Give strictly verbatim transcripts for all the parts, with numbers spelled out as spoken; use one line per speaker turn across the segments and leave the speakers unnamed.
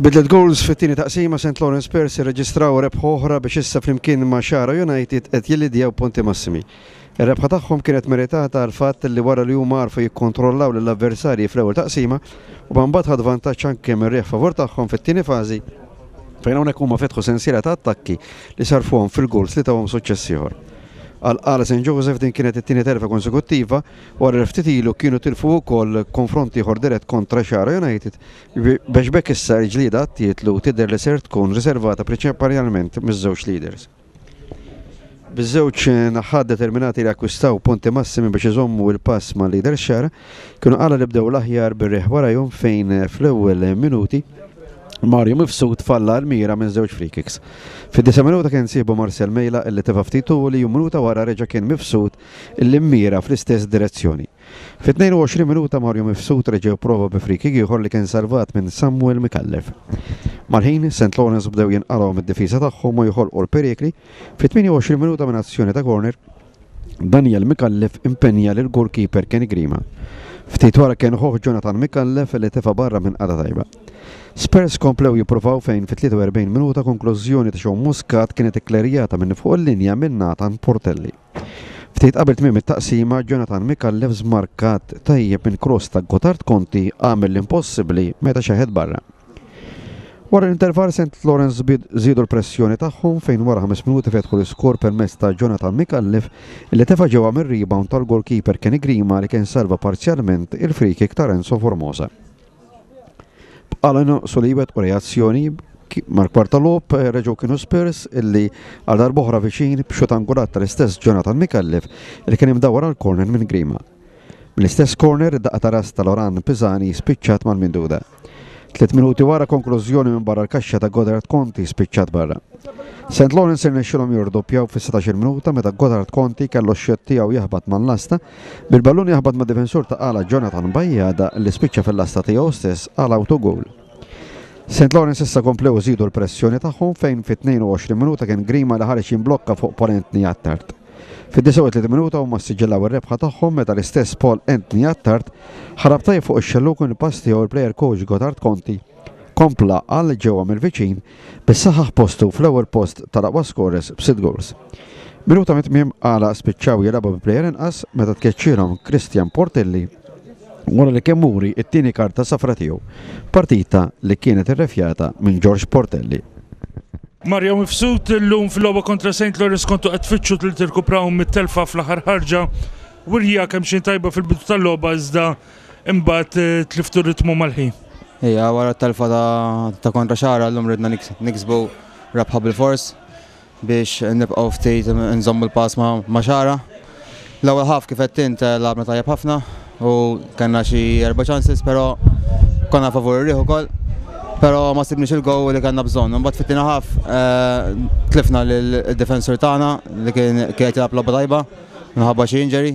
Bi tliet goals fit-tieni taqsima, Saint Lawrence Spurs irreġistraw rebħa oħra biex issa flimkien ma' Xagħra United qed jillidjaw punti massimi. Ir-rebħa tagħhom kienet meritata għal fatt li wara li huma għarfu jikkontrollaw lill-avversarji fl-ewwel taqsima u mbagħad ħadu vantaġġ anke mir-riħ favur tagħhom fit-tieni fażi, fejn hawnhekk huma fetħu sensiela ta' attakki li sarfuhom fil-goals li tawhom suċċess ieħor. Għal Qala Saint Joseph din kienet it-tieni telfa konsekuttiva wara li ftit ilu kienu tilfu wkoll konfront ieħor dirett kontra Xagħra United, biex b'hekk issa l-ġlieda għat-titlu tidher li ser tkun riservata prinċipalment miż-żewġ leaders. Biż-żewġ naħat determinati li akkwistaw punti massimi biex iżommu il-pass ma' leader Xagħra, kienu Qala li bdew l-aħjar bir-riħ warajhom, fejn fl-ewwel minuti Mario Mifsud falla l-mira minn żewġ free kicks. Fid-disa' minuta kien sieħbu Marcel Mejla illi tefa' ftit li u minuta wara reġa' kien Mifsud illi mira fl-istess direzzjoni. Fit-tnejn u għoxrin minuta Mario Mifsud reġa' prova bi free kick ieħor li kien salvat minn Samuel Mikallef. Mal-ħin, Saint Lawrence bdew jinqalgħu mid-difiża tagħhom u joħolqu l-perikli. Fit-tmienja u għoxrin minuta, minn azzjoni ta' corner, Daniel Mikallef impenja lil goalkeeper Kenny Grima. Ftit wara kien ħuh Jonathan Mikallef li tefa' barra minn qagħda tajba. Spurs komplew jippruvaw, fejn fit-tlieta u erbgħin minuta konklużjoni ta' Sean Muscat kienet ikklerjata minn fuq il-linja minn Nathan Portelli. Ftit qabel tmiem it-taqsima, Jonathan Mikallef, żmarkat tajjeb minn cross ta' Gotard Conti, għamel l-impossibbli meta xeħet barra. Wara l-interval, Saint Lawrence żiedu l-pressjoni tagħhom, fejn wara ħames minuti fetħu l-iskor permezz ta' Jonathan Mikallef li tefa' ġewwa mir-rebound tal-goalkeeper Kenny Grima li kien salva parzjalment il-free kick ta' Renzo Formosa. B'Qala naqsu li u reazzjoni, mal-kwarta logħob reġgħu kienu Spurs illi għal darb'oħra viċin b'xut angulat tal-istess Jonathan Mikallef li kien imdawar għal corner minn Grima. Mill-istess corner, daqqa ta' ras ta' Loran Pisani spiċċat mal-minduda. Tliet minuti wara, konklużjoni minn barra l-kaxxa ta' Godard Conti spiċċat barra. Saint Lawrence irnexxilhom jirdoppjaw fis-sittax-il minuta meta Godard Conti kellu x-shot tiegħu jaħbat mal-lasta, bil-ballun jaħbat ma' difensur ta' Qala Jonathan Bajjada li spiċċa fil-lasta tiegħu stess għal autogol. Saint Lawrence issa komplew żidu l-pressjoni tagħhom, fejn fit-tnejn u għoxrin minuta kien Grima li ħareġ jimblokka fuq Paul Anthony Attard. Fid-disgħa u tletin minuta huma siġillaw ir-rebħa tagħhom meta l-istess Paul Anthony Attard ħarab tajjeb fuq ix-xelluk u pass tiegħu il-player coach Gotard Conti kompla għal ġewwa mill-viċin biex saħaħ postu fl-ewwel post tal-aqwa scorers b'sitt goals. Minuta mit-tmiem, Qala spiċċaw jilagħbu bi player inqas meta tkeċċilhom Christian Portelli wara li kemm muri it-tieni karta safra tiegħu. Partita li kienet irrefjata minn George Portelli.
Mario Mifsud, illum fil-logħba kontra Saint Lawrence kontu qed tfittxu li tirkupraw mit-telfa fl-aħħar ħarġa. Wirja kemm xejn tajba fil-bidu tal-logħba, iżda imbagħad eh, tliftu ritmu mal-ħin.
Ija, wara t-telfa ta' kontra Xagħra, llum ridna niksbu rebħa bil-fors biex nibqgħu ftit nżommu l-pass ma' Xagħra. L-ewwel half, kif qed int, lagħabna tajjeb ħafna u kellna xi erba' chances, però konna favur ir-riħ ukoll. Però ma sibniex il-goal li kellna bżonn. Mbagħad fit-tieni half eh, tlifna lid-defensur tagħna li kien kien jilgħab logħba tajba minħabba xi injury.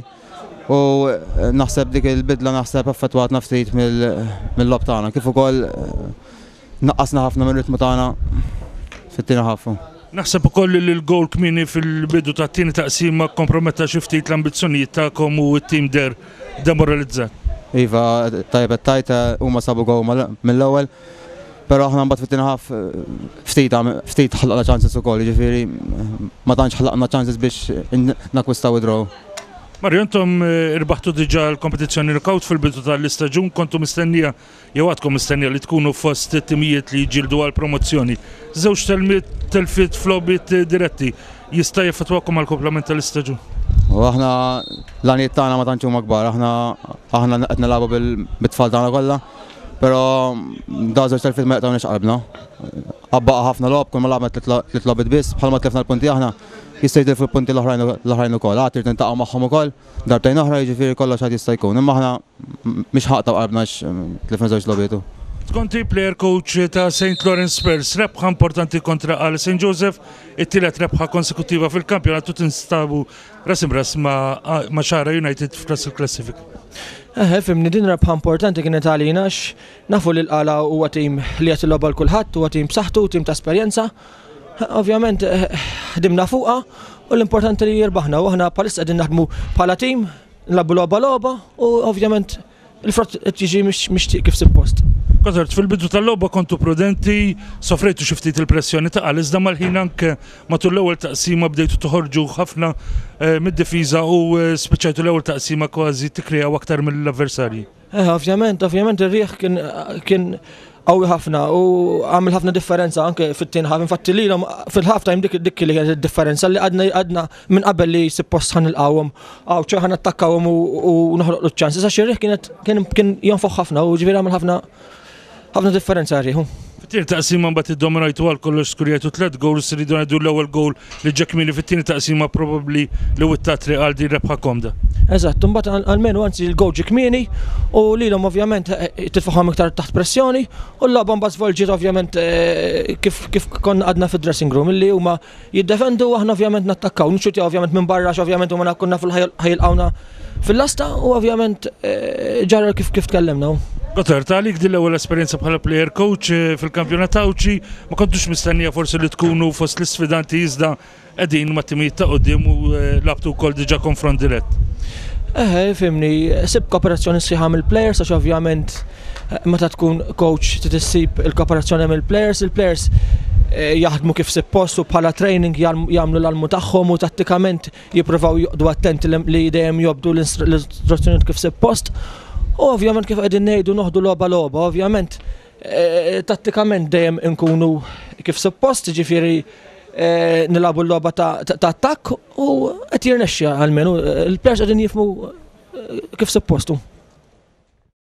U eh, naħseb dik il-bidla naħseb affettwatna ftit mill-logħob tagħna. Kif ukoll eh, naqqasna ħafna mir-ritmu tagħna fit-tieni half.
Naħseb ukoll li l-goal kmieni fil-bidu tat-tieni taqsima komprometta xi ftit l-ambizzjonijiet tagħkom u t-tim deher demoralizzat.
Iva, tajjeb tajt, huma sabu goal mill-ewwel. Però aħna mbagħad fit-tieni half ftit ftit ħlaqna chances ukoll, jiġifieri ma tantx ħlaqna chances biex nakkwistaw id-draw.
Mario, intom eh, irbaħtu diġà l-kompetizzjoni knockout fil-bidu tal-istaġun, kontu mistennija jew għadkom mistennija li tkunu fost timijiet li jġildu għal promozzjoni. Żewġ telmiet telfiet f'logħbiet diretti jista' jaffettwakom għal komplement tal-istaġun?
U aħna l-għanijiet tagħna ma tantx huma kbar, aħna aħna qed nilagħbu bil-tfal tagħna kollha, però da żewġ telfiet ma jaqtgħunix qalbna. Baqa' ħafna logħob, kull ma lagħabna tliet logħbiet biss, bħalma tlifna l-punti aħna, jista' jitilfu l-punti l-oħrajn l-oħrajn ukoll. Għad irid niltaqgħu magħhom ukoll darbtejn oħra, jiġifieri kollox għad jista' jkun. Imma aħna mhux ħa naqtgħu qalbna għax tlifna żewġ logħbiet.
Conti, player coach ta' Saint Lawrence Spurs, rebħa importanti kontra għal Saint Joseph, it-tielet rebħa konsekutiva fil-kampjonat u tinstabu ras ras ma' ma' Xagħra United f'ras il-klassifika.
Eh, fimni, din rebħa importanti kienet għalina għax nafu li l-Qala huwa tim li qed jilgħob għal kulħadd, huwa tim b'saħħtu, tim ta' esperjenza. Ovvjament eh, ħdimna fuqha u l-importanti li jirbaħna u aħna bħalissa qegħdin naħdmu bħala tim, nilagħbu logħba logħba u ovvjament il-frott qed jiġi mixtieq kif suppost.
Gotthard, fil-bidu tal-logħba kontu prudenti, sofrejtu xi ftit il-pressjoni ta' iżda mal-ħin anke matul l-ewwel taqsima bdejtu toħorġu ħafna eh, mid-difiża u eh, spiċċajtu l-ewwel taqsima kważi tikkreaw aktar mill-avversarji.
Eh, ovvjament, ovvjament ir-riħ kien kien qawwi ħafna u għamel ħafna differenza anke fit-tieni half. Infatti lilhom fil-half time dik dik li kienet id-differenza li għadna għadna minn qabel li suppost ħa nilqgħuhom għaw ċe ħa nattakkawhom u noħloq ċ-chances għax ir-riħ kienet kien kien jonfoħ ħafna u ġifieri għamel ħafna ħafna differenza r-riħ.
Fit-tieni taqsima mbagħad iddominajtu għal kollox, skurjajtu tliet goals, rridu ngħidu l-ewwel goal li ġie kmieni fit-tieni taqsima probabbli li witta triq għal din rebħa komda.
Eżatt, mbagħad almenu anzi l-goal ġie kmieni u lilhom ovvjament eh, titfagħhom iktar taħt pressjoni u l-logħba mbagħad żvolġiet ovvjament eh, kif kif konna għadna fid-dressing room illi huma jiddefendu u aħna ovvjament nattakkaw, nixxutjaw ovvjament minn barra għax ovvjament huma konna fil ħa jilqgħuna fil-lasta u ovvjament eh, ġara kif kif tkellimna.
Gotthard, għalik din l-ewwel esperjenza bħala player coach eh, fil-kampjonat Għawdxi, ma kontux mistennija forsi li tkunu fost l-isfidanti iżda qegħdin ma' timijiet ta' quddiem u eh, lgħabtu wkoll diġà konfront dirett.
Eh, fhimni, sibt kooperazzjoni sħiħa mill-players, għax ovvjament eh, meta tkun coach trid issib il-kooperazzjoni mill-players, il-players eh, jaħdmu kif suppost u bħala training jagħmlu l-almu tagħhom u tattikament jippruvaw joqogħdu attenti li dejjem jobdu l-istruzzjonijiet kif suppost. U ovvjament kif qegħdin ngħidu noħdu logħba logħba, ovvjament eh, tattikament dejjem inkunu kif suppost, ġifieri eh, nilagħbu l-logħba ta' attakk u qed jirnexxi almenu il-players qegħdin jifhmu kif suppostu.